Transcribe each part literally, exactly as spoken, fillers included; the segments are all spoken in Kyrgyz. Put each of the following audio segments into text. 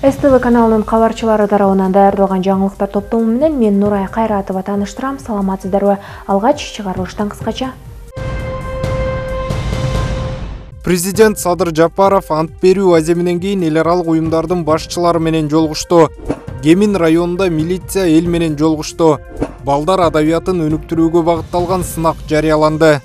эс тэ вэ каналынын кабарчылары тарабынан даярдалган жаңылыктар топтому менен мен Нурай Кайратова тааныштырам. Саламатсыздарбы? Алгач чыгарылыштан кыскача. Президент Садыр Жапаров ант берүү аземинен кийин эл аралык уюмдардын башчылары менен жолугушту. Гемин районунда милиция эл менен жолугушту. Балдар адабиятын өнүктүрүүгө багытталган сынак жарыяланды.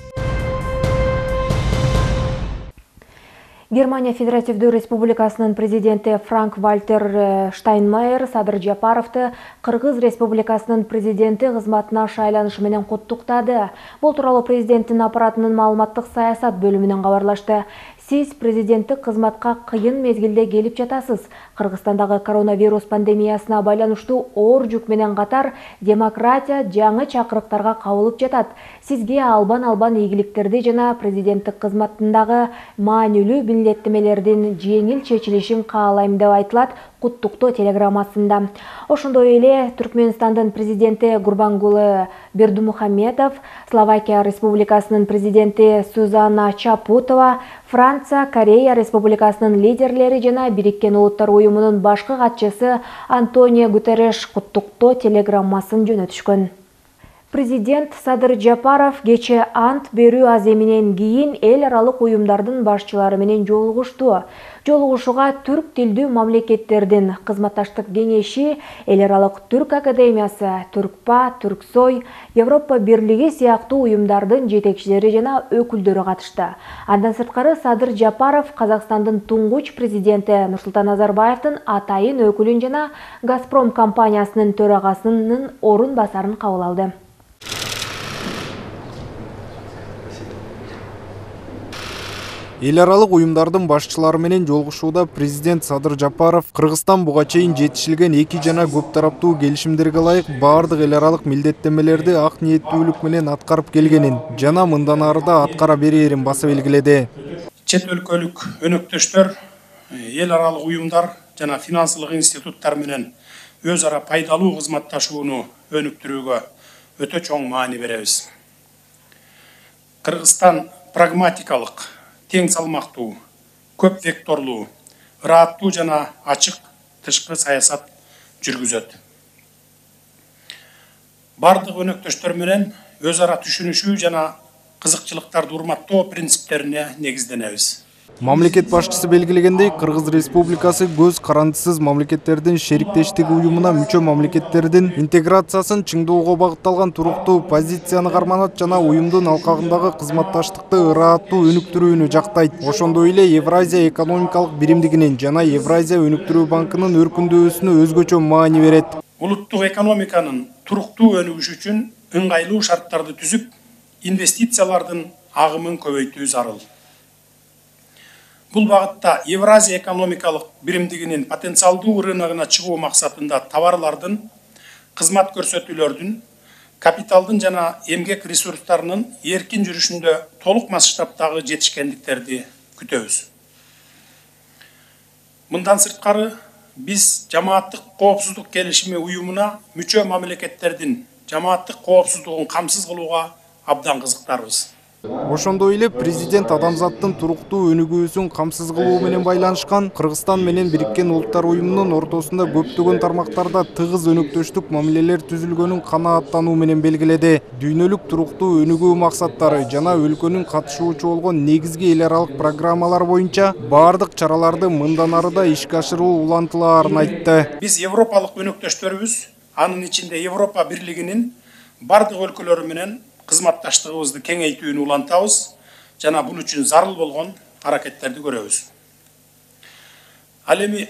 Германия Федеративдүү Республикасынын президенти Франк-Вальтер Штайнмайер Садыр Жапаровду Кыргыз Республикасынын президенти кызматына шайланышы менен куттуктады. Бул тууралуу президенттин аппаратынын маалыматтык саясат бөлүмүнөн кабарлашты. Сиз президенттик кызматка кыйын мезгилде келип жатасыз. Кыргызстандагы коронавирус пандемиясына байланыштуу оор жүк менен катар демократия жаңы чакырыктарга кабылып жатат. Сизге албан-албан ийгиликтерди жана президенттик кызматындагы маанилүү милдеттемелердин жеңил чечилишин каалайм деп айтылат куттуктоо телеграммасында. Ошондой эле Түркмөнстандын президенти Гурбангулы Бердымухамедов, Словакия Республикасынын президенти Сузанна Чапутова, Франция, Корея Республикасынын лидерлери жана Бириккен Улуттар уюмунун башкы катчысы Антонио Гутерреш куттуктоо телеграммасын жөнөтүшкөн. Президент Садыр Жапаров кече ант берүү аземинен кийин эл аралык уюмдардын башчылары менен жолугушту. Жолугушууга түрк тилдүү мамлекеттердин кызматташтык кеңеши, эл аралык түрк академиясы, Түркпа, Түрксой, Европа бирлиги сыяктуу уюмдардын жетекчилери жана өкүлдөрү катышты. Андан сырткары Садыр Жапаров Казакстандын туңгуч президенти Нурсултан Назарбаевдин атайын өкүлүн жана Газпром компаниясынын төрагасынын орун басарын кабыл алды. Эл аралык уюмдардын башчылары менен жолугушууда президент Садыр Жапаров Кыргызстан буга чейин жетишилген эки жана көп тараптуу келишимдерге ылайык баардык эл аралык милдеттемелерди ак ниеттүүлүк менен аткарып келгенин жана мындан ары да аткара берерин баса белгиледи. Чет өлкөлүк өнөктөштөр, эл аралык уюмдар жана финансылык институттар менен өз ара пайдалуу кызматташууну өнүктүрүүгө өтө чоң маани беребиз. Кыргызстан прагматикалык, тең салмактуу, көп векторлуу, ырааттуу жана ачык тышкы саясат жүргүзөт. Бардык өнөктөштөр менен өз ара түшүнүшүү жана кызыкчылыктарды урматтоо принциптерине негизденебиз. Мамлекет башчысы белгилегендей, Кыргыз Республикасы көз карандысыз мамлекеттердин шериктештиги уюмуна мүчө мамлекеттердин интеграциясын чыңдоого багытталган туруктуу позицияны карманат жана уюмдун алкагындагы кызматташтыкты ырааттуу өнүктүрүүнү жактайт. Ошондой эле Евразия экономикалык биримдигинин жана Евразия өнүктүрүү банкынын өркүндөшүнө өзгөчө маани берет. Улуттук экономиканын туруктуу өнүгүшү үчүн ыңгайлуу шарттарды түзүп, инвестициялардын агымын көбөйтүү зарыл. Бул багытта Евразия экономикалык биримдигинин потенциалдуу рыногуна чыгуу максатында товарлардын, кызмат көрсөтүүлөрдүн, капиталдын жана эмгек ресурстарынын эркин жүрүшүндө толук масштабтагы жетишкендиктерди күтөбүз. Мындан сырткары биз жамааттык коопсуздук келишими уюмуна мүчө мамлекеттердин жамааттык коопсуздугун камсыз кылууга абдан кызыктарбыз. Ошондой эле президент адамзаттын туруктуу өнүгүүсүн камсыз кылуу менен байланышкан Кыргызстан менен Бириккен Улуттар уюмунун ортосунда көптөгөн тармактарда тыгыз өнөктөштүк мамилелер түзүлгөнүн канааттануу менен белгиледи. Дүйнөлүк туруктуу өнүгүү максаттары жана өлкөнүн катышуучу болгон негизги эл аралык программалар боюнча баардык чараларды мындан ары да ишке ашыруу улантылаарын айтты. Биз европалык өнөктөштөрүбүз, анын ичинде Европа бирлигинин бардык өлкөлөрү менен кызматташтыгыбызды кеңейтүүнү улантабыз жана бул үчүн зарыл болгон аракеттерди көрөбүз. Ал эми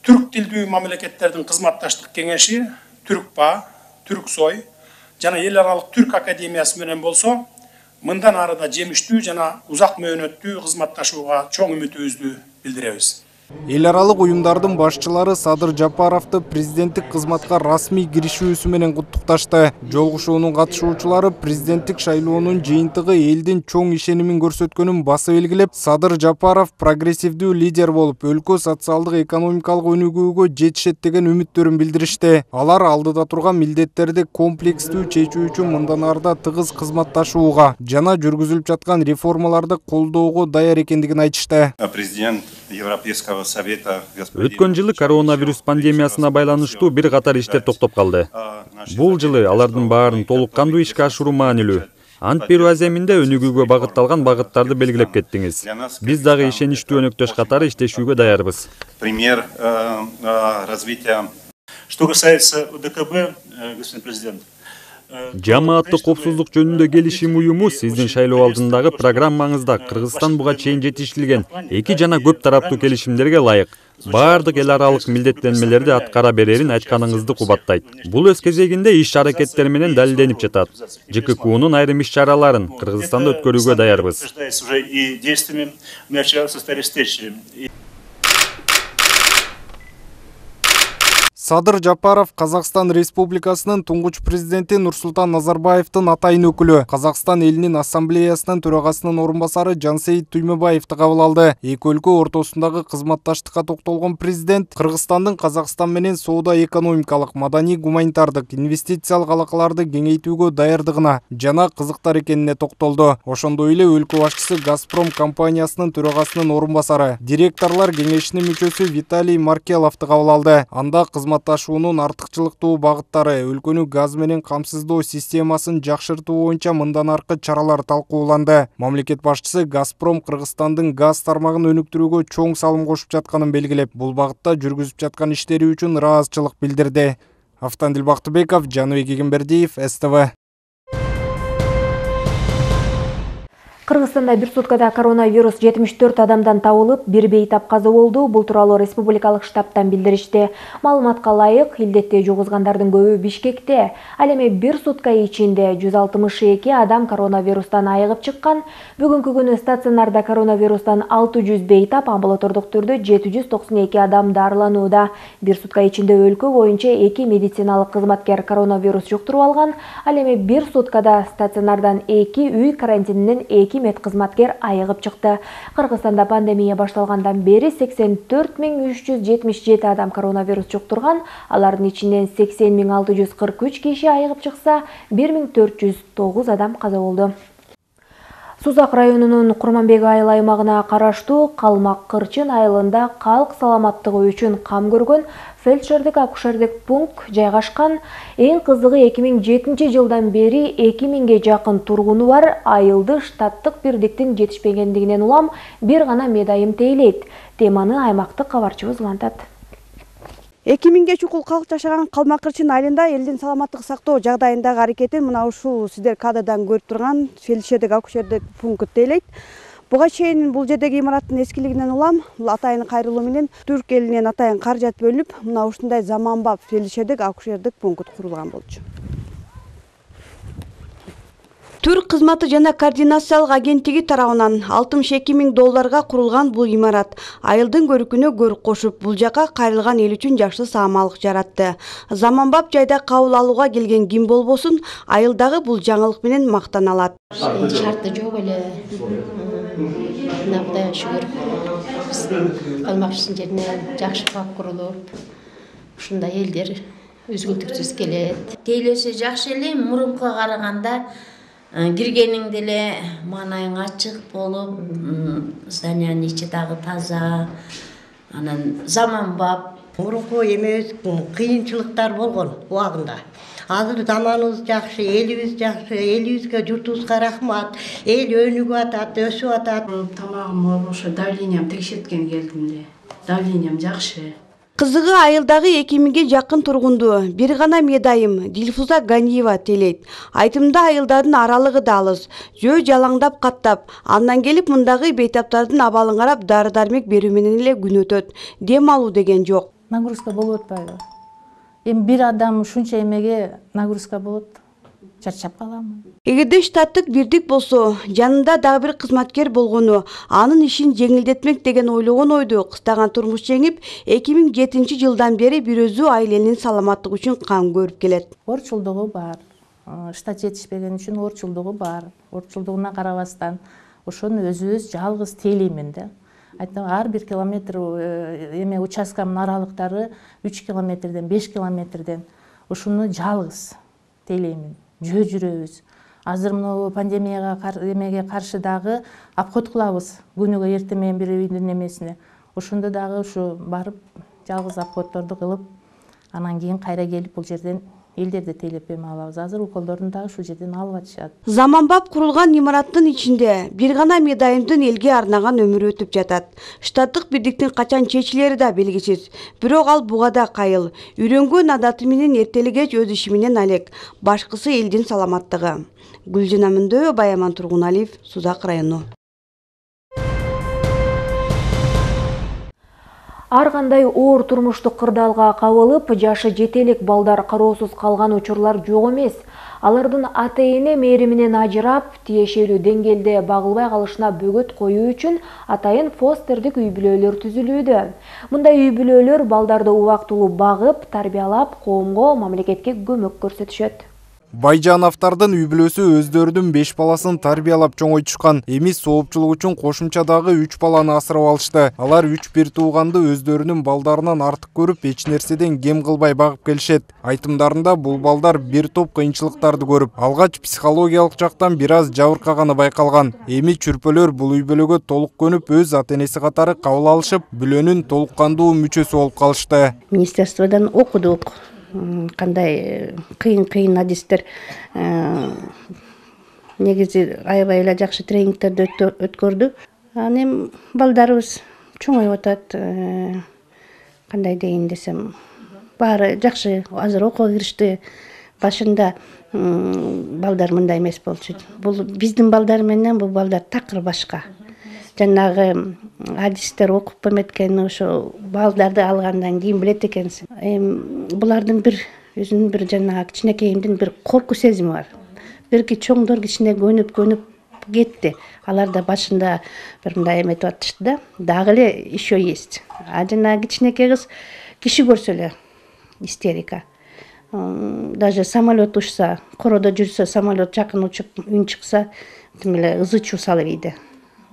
түрк тилдүү мамлекеттердин кызматташтык кеңеши Түркпа, Түрксой жана эл аралык түрк академиясы менен болсо, мындан ары да жемиштүү жана узак мөөнөттүү кызматташууга чоң үмүтүбүздү билдиребиз. Эл аралык уюмдардын башчылары Садыр Жапаровду президенттик кызматка расмий киришүүсү менен куттукташты. Жолугушуунун катышуучулары президенттик шайлоонун жыйынтыгы элдин чоң ишенимин көрсөткөнүн баса белгилеп, Садыр Жапаров прогрессивдүү лидер болуп, өлкө социалдык экономикалык өнүгүүгө жетишет деген үмүттөрүн билдиришти. Алар алдыда турган милдеттерди комплекстүү чечүү үчүн мындан ары да тыгыз кызматташууга жана жүргүзүлүп жаткан реформаларды колдоого даяр экендигин айтышты. Президент Европейского Өткөн жылы коронавирус пандемиясына байланыштуу бир катар иштер токтоп калды. Бул жылы алардын баарын толук кандуу ишке ашыруу маанилүү. Ант берүү аземинде өнүгүүгө багытталган багыттарды белгилеп кеттиңиз. Биз дагы ишеничтүү өнөктөш катары иштешүүгө даярбыз. Пример развития. Что касается УДКБ, господин президент. Жамааттык коопсуздук жөнүндө келишим уюму сиздин шайлоо алдындагы программаңызда Кыргызстан буга чейин жетишилген эки жана көп тараптуу келишимдерге ылайык баардык эл аралык милдеттенмелерди аткара берерин айтканыңызды кубаттайт. Бул өз кезегинде иш аракеттер менен далилденип жатат. ЖККУнун айрым иш чараларын Кыргызстанда өткөрүүгө даярбыз. Садыр Жапаров Казакстан Республикасынын туңгуч президенти Нурсултан Назарбаевдин атайын өкүлү, Казакстан элинин ассамблеясынын төрагасынын орун басары Жансейит Туймебаевди кабыл алды. Эки өлкө ортосундагы кызматташтыкка токтолгон президент Кыргызстандын Казакстан менен соода-экономикалык, маданий-гуманитардык, инвестициялык алакаларды кеңейтүүгө даярдыгына жана кызыктар экенине токтолду. Ошондой эле өлкө башчысы Газпром компаниясынын төрагасынын орун басары, директорлор кеңешинин мүчөсү Виталий Маркеловду кабыл алды. Анда кызмат Кызматташуунун артыкчылыктуу багыттары, өлкөнү газ менен камсыздоо системасын жакшыртуу боюнча мындан аркы чаралар талкууланды. Мамлекет башчысы Газпром Кыргызстандын газ тармагын өнүктүрүүгө чоң салым кошуп жатканын белгилеп, бул багытта жүргүзүп жаткан иштери үчүн ыраазычылык билдирди. Автандил Бактыбеков, Жаныбек Эгембердиев, эс тэ вэ. Кыргызстанда бир суткада коронавирус жетимиш төрт адамдан табылып, бир бейтап каза болду. Бул тууралуу республикалык штабтан билдиришти. Маалыматка ылайык, илдетти жугузгандардын көбү Бишкекте. Ал эми бир сутка ичинде жүз алтымыш эки адам коронавирустан айыгып чыккан. Бүгүнкү күнү стационарда коронавирустан алты жүз бейтап, амбулатордук түрдө жети жүз токсон эки адам дарыланууда. Бир сутка ичинде өлкө боюнча эки медициналык кызматкер коронавирус жуктуруп алган. Ал эми бир суткада стационардан эки, үй карантининен эки медкызматкер айыгып чыкты. Кыргызстанда пандемия башталгандан бери сексен төрт миң үч жүз жетимиш жети адам коронавирус жуктурган. Алардын ичинен сексен миң алты жүз кырк үч киши айыгып чыкса, бир миң төрт жүз тогуз адам каза болду. Сузак районунун Курманбек айыл аймагына караштуу Калмак Кырчын айылында калк саламаттыгы үчүн кам көргөн фельдшердик акушердик пункт жайгашкан. Эң кызыгы эки миң жетинчи жылдан бери эки миңге жакын тургуну бар айылды штаттык бирдиктин жетишпегендигинен улам бир гана медайым тейлейт. Теманы аймактык кабарчыбыз улантат. эки миңге чукул калк жашаган Калмак Кырчын айылында элдин саламаттык сактоо жагдайындагы аракетин мына ушул сиздер кадрдан көрүп турган фельдшердик акушердик пункт тейлейт. Буга чейин бул жердеги имараттын эскилигинен улам атайын кайрылуу менен түрк элинен атайын каражат бөлүнүп, мына ушундай заманбап фельдшердик акушердик пункт курулган болчу. Түрк кызматы жана координациялык агенттиги тарабынан алтымыш эки миң долларга курулган бул имарат айылдын көркүнө көрк кошуп, бул жака кайрылган эл үчүн жакшы саамалык жаратты. Заманбап жайда кабыл алууга келген ким болбосун, айылдагы бул жаңылык менен мактана алат. Шарты жок эле. Кудайга шүгүр. Калмак Кырчын жерине жакшы бак курулуп, ушундай элдер үзгүлтүксүз келет. Тейлесе жакшы эле, мурункуга караганда киргениңде эле маанайың ачык болуп, зданиянын ичи дагы таза, анан заманбап. Мурунку эмес кыйынчылыктар болгон убагында. Азыр заманыбыз жакшы, элибиз жакшы, элибизге, журтубузга рахмат. Эл өнүгүп атат, өсүп атат. Тамагым ошо давлениям текшерткен келдим эле. Давлениям жакшы. Кызыгы айылдагы эки миңге жакын тургунду бир гана медайым Дилфуза Ганиева тейлейт. Айтымда айылдардын аралыгы да алыс, жөө жалаңдап каттап, андан келип мындагы бейтаптардын абалын карап дары-дармек берүү менен эле күн өтөт. Дем алуу деген жок. Нагрузка болуп атпайбы? Эми бир адам ушунча эмеге нагрузка болот. Чарчап каламын. Эгерде штаттык бирдик болсо, жанында дагы бир кызматкер болгону, анын ишин жеңилдетмек деген ойлогон ойду кыстаган турмуш жеңип, эки миң жетинчи жылдан бери бир өзү айылынын саламаттыгы үчүн кам көрүп келет. Орчулдугу бар. Штат жетишпеген үчүн орчулдугу бар. Орчулдугуна карабастан ошону өзүбүз жалгыз тейлеймин да. Айтам, ар бир километр эме участкамдын аралыктары үч километрден, беш километрден ушуну жалгыз тейлеймин. Жөө жүрөбүз. Азыр мына пандемияга эмеге каршы дагы обход кылабыз. Күнүгө эртең менен бир үйдүн эмесине. ошондо дагы ушу барып жалгыз обходторду кылып, анан кийин кайра келип бул жерден элдерди тейлеп эме алабыз. Азыр уколдорун дагы ушул жерден алып атышат. Заманбап курулган имараттын ичинде бир гана медайымдын элге арнаган өмүрү өтүп жатат. Штаттык бирдиктин качан чечилери да белгисиз. Бирок ал буга да кайыл. Үйрөнгөн адаты менен эртелигеч өз иши менен алек. Башкысы элдин саламаттыгы. Гүлжана Мөндө, Баяман Тургуналиев, Сузак району. Ар кандай оор турмуштук кырдаалга кабылып, жашы жетелик балдар кароосуз калган учурлар жок эмес. Алардын ата-эне мээриминен ажырап, тиешелүү деңгээлде багылбай калышына бөгөт коюу үчүн атайын фостердик үй бүлөлөр түзүлүүдө. Мындай үй бүлөлөр балдарды убактылуу багып, тарбиялап, коомго, мамлекетке көмөк көрсөтүшөт. Байжановдардын үй бүлөсү өздөрүнүн беш баласын тарбиялап чоңойтушкан. Эми соопчулук үчүн кошумча дагы үч баланы асырап алышты. Алар үч бир тууганды өздөрүнүн балдарынан артык көрүп, эч нерседен кем кылбай багып келишет. Айтымдарында бул балдар бир топ кыйынчылыктарды көрүп, алгач психологиялык жактан бир аз жабыркаганы байкалган. Эми чүрпөлөр бул үй бүлөгө толук көнүп, өз ата-энеси катары кабыл алышып, бүлөнүн толук кандуу мүчөсү болуп калышты. Министерстводон окудук. Кандай кыйын-кыйын адистер негизи аябай эле жакшы тренингтерди өткөрдү. Анан эми балдарыбыз чоңоюп атат. Кандай дейин десем, баары жакшы, азыр окууга киришти. Башында балдар мындай эмес болчу. Бул биздин балдар менен бул балдар такыр башка. Жанагы адистер окуп эметкен ошо балдарды алгандан кийин билет экенсиң. Эми булардын бир өзүнүн бир жанагы кичинекейимдин бир корку сезими бар. Бирки чоңдор кичине көнүп-көнүп кетти. Алар да башында бир мындай эметип атышты да, дагы эле еще есть. А жанагы кичинекей кыз киши көрсө эле истерика. Даже самолет учса, короодо жүрсө, самолет жакын учуп, үн чыкса, тим эле ызы чуу салып ийди.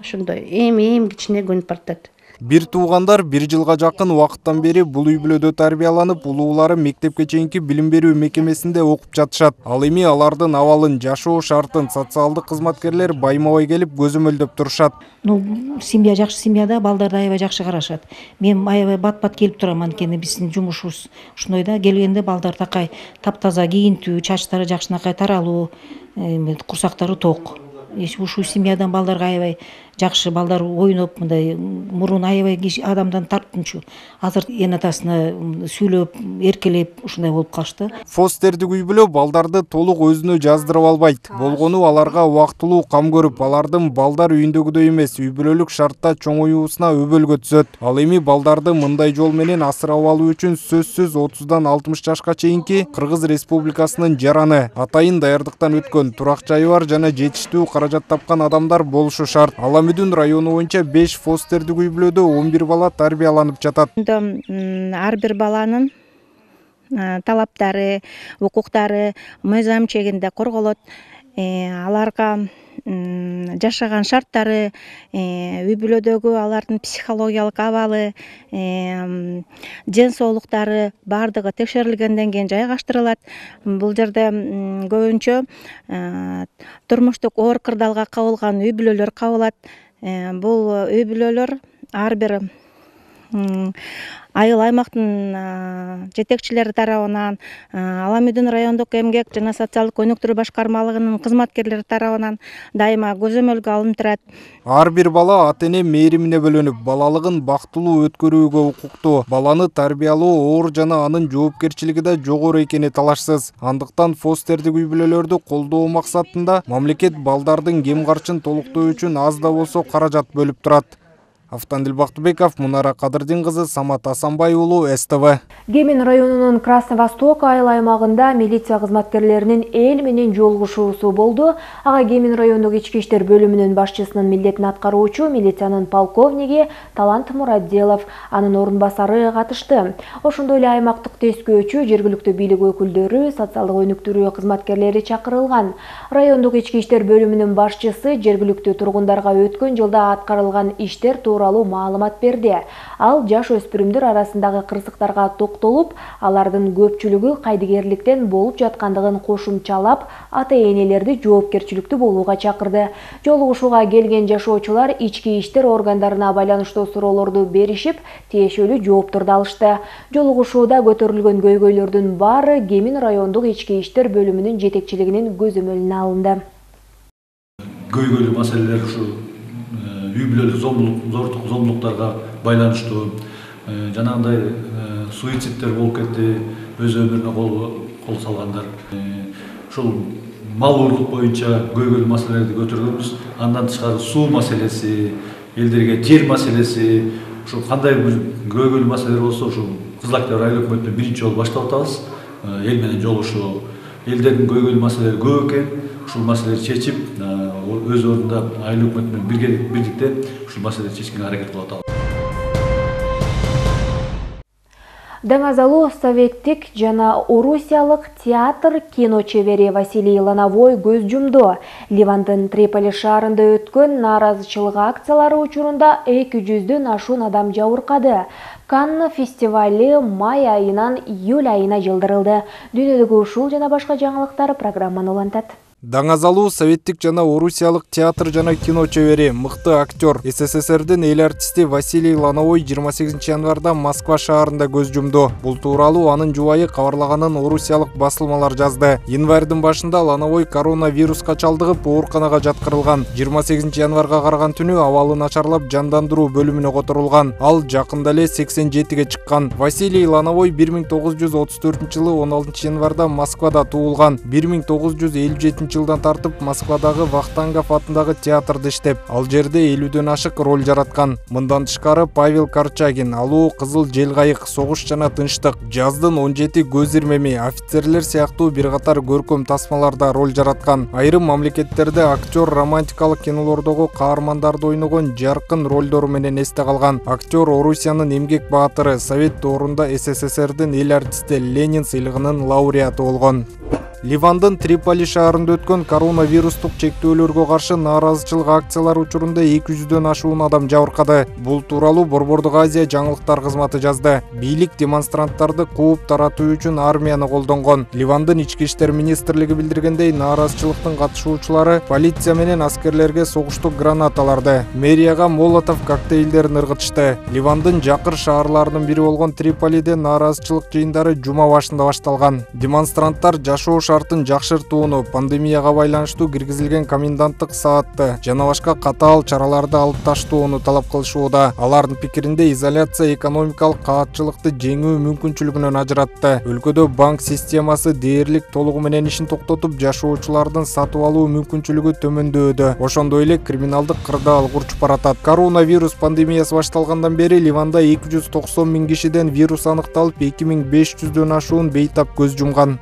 Ошондой эми-эми кичине көнүп баратат. Бир туугандар бир жылга жакын убакыттан бери бул үй бүлөдө тарбияланып, улуулары мектепке чейинки билим берүү мекемесинде окуп жатышат. Ал эми алардын абалын, жашоо шартын социалдык кызматкерлер байма-бай келип көзөмөлдөп турушат. Ну, семья жакшы семьяда балдарды аябай жакшы карашат. Мен аябай бат-бат келип турам, анткени биздин жумушубуз ушундай да, келгенде балдар такай таптаза кийинтүү, чачтары жакшынакай таралуу, курсактары ток. Ушул семьядан балдарга аябай жакшы, балдар ойноп, мындай мурун аябай адамдан тартынчу. Азыр эн атасына сүйлөп, эркелеп ушундай болуп калышты. Фостердик үй бүлө балдарды толук өзүнө жаздырып албайт. Болгону аларга убактылуу кам көрүп, алардын балдар үйүндөгүдөй эмес, үй бүлөлүк шартта чоңоюусуна өбөлгө түзөт. Ал эми балдарды мындай жол менен асырап алуу үчүн сөзсүз отуздан алтымыш жашка чейинки Кыргыз Республикасынын жараны, атайын даярдыктан өткөн, турак жайы бар жана жетиштүү каражат тапкан адамдар болушу шарт. Аламүдүн району боюнча беш фостердик үй бүлөдө он бир бала тарбияланып жатат. Ар бир баланын талаптары, укуктары мыйзам чегинде корголот. Аларга жашаган шарттары, үй бүлөдөгү алардын психологиялык абалы, ден соолуктары бардыгы текшерилгенден кийин жайгаштырылат. Бул жерде көбүнчө турмуштук оор кырдаалга кабылган үй бүлөлөр кабылат. Бул үй бүлөлөр ар бир айыл аймактын жетекчилери тарабынан, Аламүдүн райондук эмгек жана социалдык өнүктүрүү башкармалыгынын кызматкерлери тарабынан дайыма көзөмөлгө алынып турат. Ар бир бала ата-эне мээримине бөлөнүп, балалыгын бактылуу өткөрүүгө укуктуу. Баланы тарбиялоо оор жана анын жоопкерчилиги да жогору экени талашсыз. Андыктан фостердик үй бүлөлөрдү колдоо максатында мамлекет балдардын кем карчын толуктоо үчүн аз да болсо каражат бөлүп турат. Автандил Бактыбеков, Мунара Кадырдин кызы, Самат Асанбай уулу, эс тэ вэ. Кемин районунун Красный Восток айыл аймагында милиция кызматкерлеринин эл менен жолугушуусу болду. Ага Кемин райондук ички иштер бөлүмүнүн башчысынын милдетин аткаруучу милициянын полковниги Талант Мурадделов, анын орун басары катышты. Ошондой эле аймактык тескөөчү, жергиликтүү бийлик өкүлдөрү, социалдык өнүктүрүү кызматкерлери чакырылган. Райондук ички иштер бөлүмүнүн башчысы жергиликтүү тургундарга өткөн жылда аткарылган иштер тууралуу маалымат берди. Ал жаш өспүрүмдөр арасындагы кырсыктарга токтолуп, алардын көпчүлүгү кайдыгерликтен болуп жаткандыгын кошумчалап, ата-энелерди жоопкерчиликтүү болууга чакырды. Жолугушууга келген жашоочулар ички иштер органдарына байланыштуу суроолорду беришип, тиешелүү жоопторду алышты. Жолугушууда көтөрүлгөн көйгөйлөрдүн баары Кемин райондук ички иштер бөлүмүнүн жетекчилигинин көзөмөлүнө алынды. Көйгөйлүү маселелер ушу үй бүлөлүк зордук зомбулуктарга байланыштуу, жанагындай суицидтер болуп кетти, өз өмүрүнө кол салгандар. Ушул мал урлук боюнча көйгөйлүү маселелерди көтөргөнбүз. Андан тышкары суу маселеси, элдерге жер маселеси, ушул кандай бир көйгөйлүү маселелер болсо, ушул Кызыл Октябрь айыл өкмөтүнө биринчи жолу баштап атабыз. Эл менен жолугушуу. Элдердин көйгөйлүү маселелери көп экен. Ушул маселелерди чечип, өз ордунда айыл өкмөтү менен бирдикте ушул маселелерди чечкенге аракет кылып атабыз. Даңазалуу советтик жана орусиялык театр кино чебери Василий Лановой көз жумду. Ливандын Триполи шаарында өткөн нааразычылык акциялары учурунда эки жүздөн ашуун адам жабыркады. Канн фестивали май айынан июль айына жылдырылды. Дүйнөдөгү ушул жана башка жаңылыктар программаны улантат. Даңазалуу советтик жана орусиялык театр жана кино чебери, мыкты актер, СССРдин эл артисти Василий Лановой жыйырма сегизинчи январда Москва шаарында көз жумду. Бул тууралуу анын жубайы кабарлаганын орусиялык басылмалар жазды. Январдын башында Лановой коронавируска чалдыгып, ооруканага жаткырылган. жыйырма сегизинчи январга караган түнү абалы начарлап жандандыруу бөлүмүнө которулган. Ал жакында эле сексен жетиге чыккан. Василий Лановой бир миң тогуз жүз отуз төртүнчү жылы он алтынчы январда Москвада туулган. бир миң тогуз жүз элүү жетинчи жылдан тартып Москвадагы Вахтангов атындагы театрда иштеп, ал жерде элүүдөн ашык роль жараткан. Мындан тышкары Павел Корчагин, Алуу, Кызыл жел кайык, Согуш жана тынчтык, Жаздын он жети көз ирмеми, Офицерлер сыяктуу бир катар көркөм тасмаларда роль жараткан. Айрым мамлекеттерде актер романтикалык кинолордогу каармандарды ойногон жаркын ролдору менен эсте калган. Актер Орусиянын эмгек баатыры, Совет доорунда СССРдин эл артисти, Ленин сыйлыгынын лауреаты болгон. Ливандын Триполи шаарында өткөн коронавирустук чектөөлөргө каршы нааразычылык акциялары учурунда эки жүздөн ашуун адам жабыркады. Бул тууралуу Борбордук Азия жаңылыктар кызматы жазды. Бийлик демонстранттарды кууп таратуу үчүн армияны колдонгон. Ливандын ички иштер министрлиги билдиргендей, нааразычылыктын катышуучулары полиция менен аскерлерге согуштук гранаталарды, мэрияга молотов коктейлдерин ыргытышты. Ливандын жакыр шаарларынын бири болгон Триполиде нааразычылык жыйындары жума башында башталган. Демонстранттар жашоо шартын жакшыртууну, пандемияга байланыштуу киргизилген коменданттык саатты жана башка катаал чараларды алып таштоону талап кылышууда. Алардын пикиринде изоляция экономикалык каатчылыкты жеңүү мүмкүнчүлүгүнөн ажыратты. Өлкөдө банк системасы дээрлик толугу менен ишин токтотуп, жашоочулардын сатып алуу мүмкүнчүлүгү төмөндөдү. Ошондой эле криминалдык кырдаал урчуп баратат. Коронавирус пандемиясы башталгандан бери Ливанда эки жүз токсон миң кишиден вирус аныкталып, эки миң беш жүздөн ашуун бейтап көз жумган.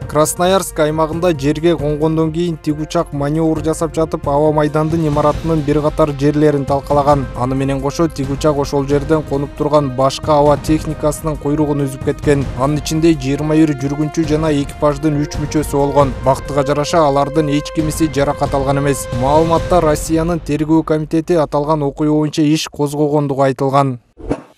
Красноярск аймагында жерге конгондон кийин тигучак маневр жасап жатып, аба майдандын имаратынын бир катар жерлерин талкалаган. Аны менен кошо тигучак ошол жерден конуп турган башка аба техникасынын койругун үзүп кеткен. Анын ичинде жыйырма бир жүргүнчү жана экипаждын үч мүчөсү болгон. Бактыга жараша алардын эч кимиси жаракат алган эмес. Маалыматта Россиянын тергөө комитети аталган окуя боюнча иш козгогондугу айтылган.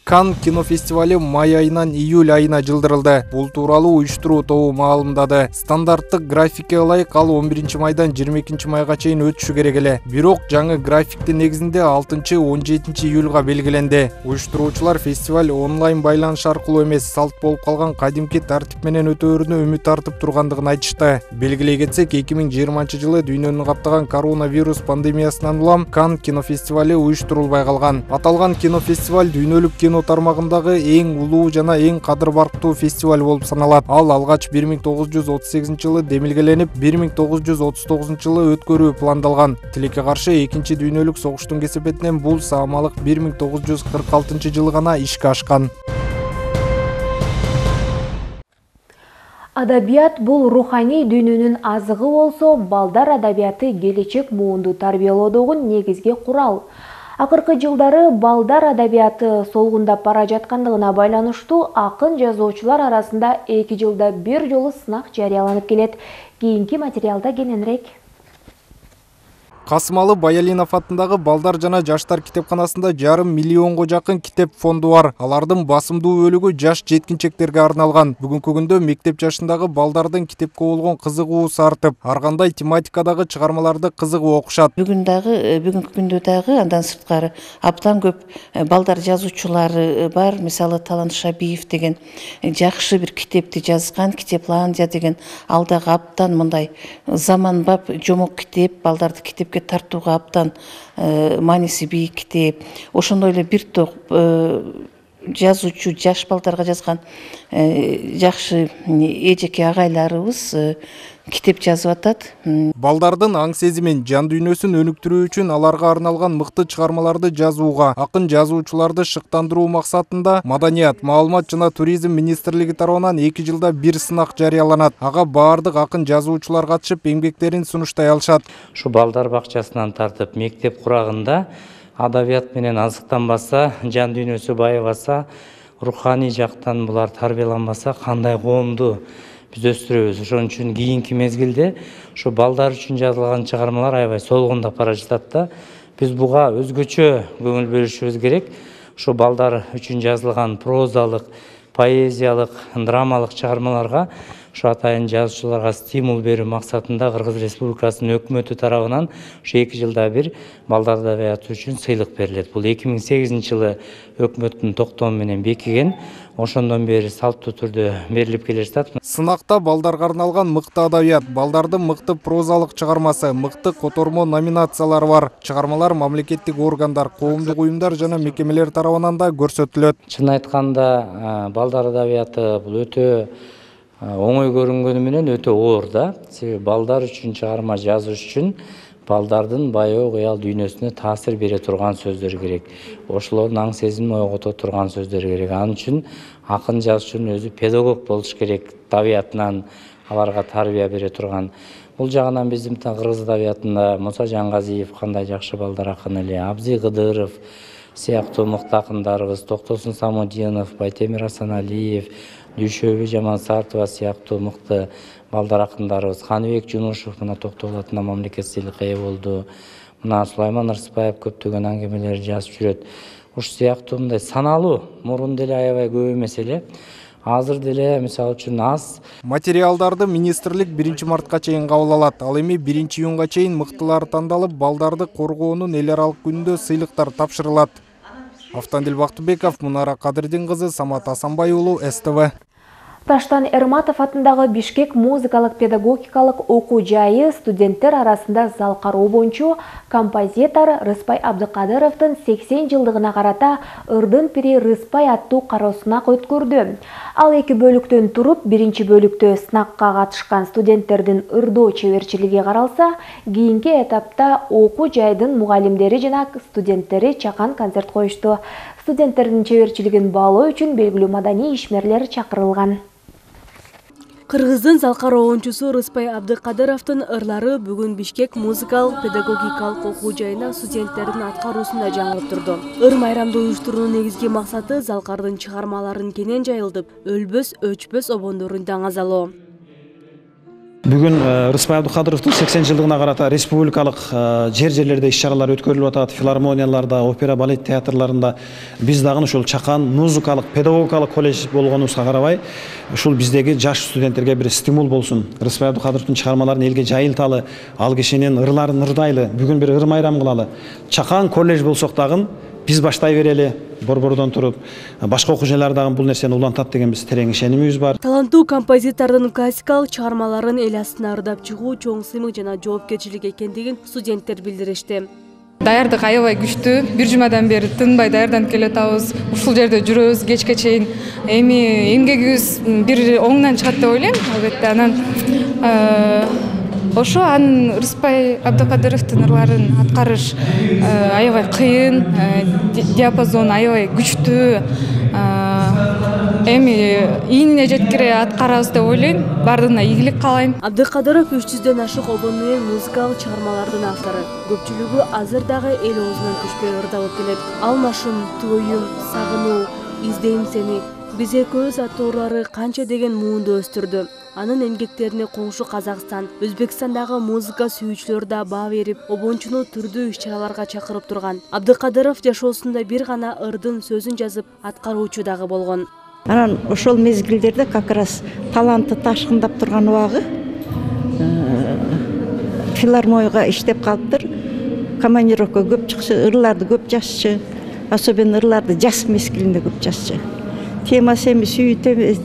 Канн кинофестивали май айынан июль айына жылдырылды. Бул тууралуу уюштуруу тобу маалымдады. Стандарттык графикке ылайык ал он биринчи майдан жыйырма экинчи майга чейин өтүшү керек эле. Бирок жаңы графиктин негизинде алтынчы он жетинчи июлга белгиленди. Уюштуруучулар фестиваль онлайн байланыш аркылуу эмес, салт болуп калган кадимки тартип менен өтөөрүнө үмүт артып тургандыгын айтышты. Белгилей кетсек, эки миң жыйырманчы жылы дүйнөнү каптаган коронавирус пандемиясынан улам Канн кинофестивали уюштурулбай калган. Аталган кинофестиваль дүйнөлүк кино тармагындагы эң улуу жана эң кадыр барктуу фестиваль болуп саналат. Ал алгач бир миң тогуз жүз отуз сегизинчи жылы демилгеленип, бир миң тогуз жүз отуз тогузунчу жылы өткөрүү пландалган. Тилекке каршы экинчи дүйнөлүк согуштун кесепетинен бул саамалык бир миң тогуз жүз кырк алтынчы жылы гана ишке ашкан. Адабият бул руханий дүйнөнүн азыгы болсо, балдар адабияты келечек муунду тарбиялоодогу негизги курал. Акыркы жылдары балдар адабияты солгундап бара жаткандыгына байланыштуу акын жазуучулар арасында эки жылда бир жолу сынак жарыяланып келет. Кийинки материалда кененирээк. Касымалы Баялинов атындагы балдар жана жаштар китепканасында жарым миллионго жакын китеп фонду бар. Алардын басымдуу бөлүгү жаш жеткинчектерге арналган. Бүгүнкү күндө мектеп жашындагы балдардын китепке болгон кызыгуусу артып, ар кандай тематикадагы чыгармаларды кызыгып окушат. Бүгүн дагы, бүгүнкү күндө дагы андан сырткары абдан көп балдар жазуучулары бар. Мисалы Талант Шабиев деген жакшы бир китепти жазган, Китепландия деген алдагы абдан мындай заманбап жомок китеп, балдарды китепке тартууга абдан мааниси бийик китеп. Ошондой эле бир топ жазуучу жаш балдарга жазган жакшы эжеке агайларыбыз китеп жазып атат. Балдардын аң сезимин, жан дүйнөсүн өнүктүрүү үчүн аларга арналган мыкты чыгармаларды жазууга, акын жазуучуларды шыктандыруу максатында Маданият, маалымат жана туризм министрлиги тарабынан эки жылда бир сынак жарыяланат. Ага баардык акын жазуучулар катышып, эмгектерин сунуштай алышат. Ушу балдар бакчасынан тартып мектеп курагында адабият менен азыктанбаса, жан дүйнөсү байыбаса, руханий жактан булар тарбияланбаса, кандай коомду биз өстүрөбүз. Ошон үчүн кийинки мезгилде ушу балдар үчүн жазылган чыгармалар аябай солгундап бара жатат да. Биз буга өзгөчө көңүл бөлүшүбүз керек. Ушу балдар үчүн жазылган прозалык, поэзиялык, драмалык чыгармаларга ушу атайын жазуучуларга стимул берүү максатында Кыргыз Республикасынын өкмөтү тарабынан ушу эки жылда бир балдар адабияты үчүн сыйлык берилет. Бул эки миң сегизинчи жылы өкмөттүн токтому менен бекиген. Ошондон бери салттуу түрдө берилип келе жатат. Сынакта балдарга арналган мыкты адабият, балдардын мыкты прозалык чыгармасы, мыкты котормо номинациялары бар. Чыгармалар мамлекеттик органдар, коомдук уюмдар жана мекемелер тарабынан да көрсөтүлөт. Чын айтканда, балдар адабияты бул өтө оңой көрүнгөнү менен өтө оор да. Себеби балдар үчүн чыгарма жазыш үчүн балдардын баягы кыял дүйнөсүнө таасир бере турган сөздөр керек. Ошолордун аң сезимин ойгото турган сөздөр керек. Анын үчүн акын жазуучунун өзү педагог болуш керек. Табиятынан аларга тарбия бере турган. Бул жагынан биздин кыргыз адабиятында Муса Жангазиев кандай жакшы балдар акын эле, Абзый Кыдыров сыяктуу мыкты акындарыбыз, Токтосун Самудинов, Байтемир Асаналиев, Дүйшөбү Жамансартова сыяктуу мыкты балдар акындарыбыз, Ханыбек Жунушев мына Токтогул мамлекет сыйлыкка ээ болду. Мына Сулайман Ырсбаев көптөгөн аңгемелер жазып жүрөт. Ушу сыяктуу мындай саналуу, мурун деле аябай көп эмес эле, азыр деле мисалы үчүн аз. Материалдарды министрлик биринчи мартка чейин кабыл алат. Ал эми биринчи июнга чейин мыктылары тандалып, балдарды коргоонун эл аралык күнүндө сыйлыктар тапшырылат. Автандил Бактыбеков, Мунара Кадырдин кызы, Самат Асанбай уулу, эс тэ вэ. Таштан Эрматов атындагы Бишкек музыкалык педагогикалык окуу жайы студенттер арасында зал кароо боюнча композитор Рыспай Абдыкадыровдун сексен жылдыгына карата Ырдын пири Рыспай аттуу кароосунак өткөрдү. Ал эки бөлүктөн туруп, биринчи бөлүктө сынакка катышкан студенттердин ырдоо чеберчилиги каралса, кийинки этапта окуу жайдын мугалимдери жана студенттери чакан концерт коюшту. Студенттердин чеберчилигин баалоо үчүн белгилүү маданий ишмерлер чакырылган. Кыргыздын зал кароочусу Рыспай Абдыкадыровдун ырлары бүгүн Бишкек музыкалык педагогикалык окуу жайына студенттердин аткаруусунда жаңырып турду. Ыр майрамды уюштуруунун негизги максаты залкардын чыгармаларын кенен жайылтып, өлбөс, өчпөс обондорун даңазалоо. Бүгүн Рыспай Абдыкадыровдун сексен жылдыгына карата республикалык жер-жерлерде иш-чаралар өткөрүлүп атат. Филармонияларда, опера, балет театрларында биз дагы ушул Чакан музыкалык педагогикалык колледж болгонубузга карабай, ушул биздеги жаш студенттерге бир стимул болсун. Рыспай Абдыкадыровдун чыгармаларын элге жайылталы, ал кишинин ырларын ырдайлы, бүгүн бир ыр майрам кылалы. Чакан колледж болсок дагы биз баштай берели, борбордон туруп, башка окуучулар дагы бул нерсени улантат деген биз терең ишенимибиз бар. Таланттуу композитордун классикалык чыгармаларын эл астына ырдап чыгуу чоң сыймык жана жоопкерчилик экендигин студенттер билдиришти. Даярдык аябай күчтүү. Бир жумадан бери тынбай даярданып келе атабыз. Ушул жерде жүрөбүз кечке чейин. Эми эмгегибиз бир оңунан чыгат деп ойлойм. Албетте анан ошо анын Рыспай Абдыкадыровдун ырларын аткарыш аябай кыйын, диапазон аябай күчтүү. Эми ийинине жеткире аткарабыз деп ойлойм. Бардыгына ийгилик каалайм. Абдыкадыров үч жүздөн ашык обон менен музыкалык чыгармалардын автору. Көпчүлүгү азыр дагы эл оозунан түшпөй ырдалып келет. Алмашым, тооюм, сагынуу, издейм сени, Биз экөөбүз аттуулары канча деген муунду өстүрдү. Анын эмгектерине коңшу Казакстан, Өзбекстандагы музыка сүйүүчүлөр да баа берип, обончуну түрдүү иш-чараларга чакырып турган. Абдыкадыров жашоосунда бир гана ырдын сөзүн жазып, аткаруучу дагы болгон. Анан ошол мезгилдерде как раз таланты ташкындап турган убагы филармонияга иштеп калыптыр. Командировка көп чыкчы, ырларды көп жазчы, особенно ырларды жаз мезгилинде көп жазчы. Темасы эми сүйүү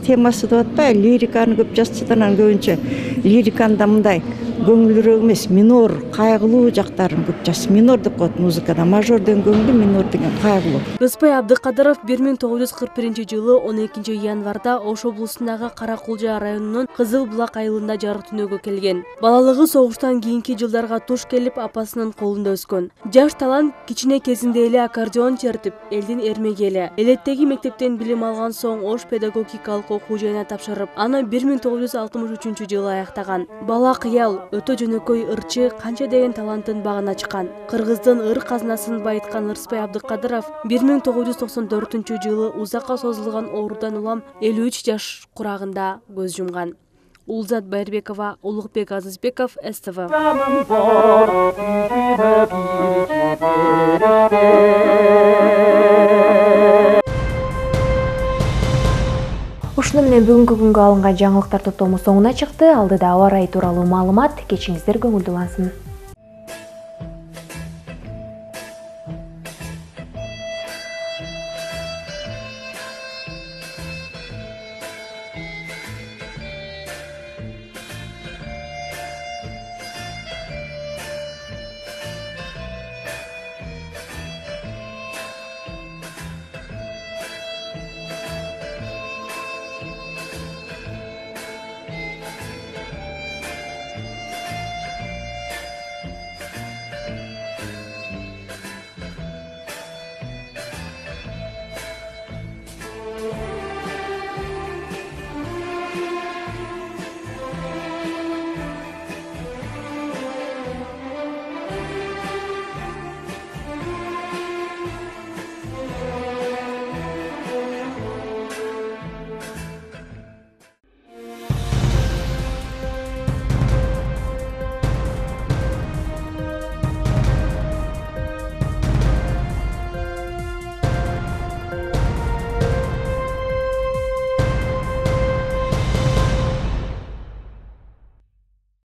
темасы деп атпайбы, лириканы көп жазчы, анан көбүнчө лириканда мындай көңүлдүүрөөк эмес, минор, кайгылуу жактарын көп жазчы. Минор деп коет музыкада, мажор деген көңүлдүү, минор деген кайгылуу. Рыспай Абдыкадыров бир миң тогуз жүз кырк биринчи жылы он экинчи январда Ош облусундагы Каракулжа районунун Кызыл Булак айылында жарык дүнөөгө келген. Балалыгы согуштан кийинки жылдарга туш келип, апасынын колунда өскөн. Жаш талант кичине кезинде эле аккордеон чертип, элдин эрмегели. Элеттеги мектептен билим алган соң Ош педагогикалык окуу жайына тапшырып, аны бир миң тогуз жүз алтымыш үчүнчү жылы аяктаган. Бала кыял, өтө жөнөкөй ырчы, канча деген таланттын багын ачкан. Кыргыздын ыр казынасын байыткан Рыспай Абдыкадыров бир миң тогуз жүз токсон төртүнчү жылы узакка созулган оорудан улам элүү үч жаш курагында көз жумган. Улзат Байырбекова, Улукбек Азызбеков, эс тэ вэ. Ушуну менен бүгүнкү күнгө алынган жаңылыктар топтому соңуна чыкты. Алдыда аба ырайы тууралуу маалымат. Кечиңиздер көңүлдүү улансын.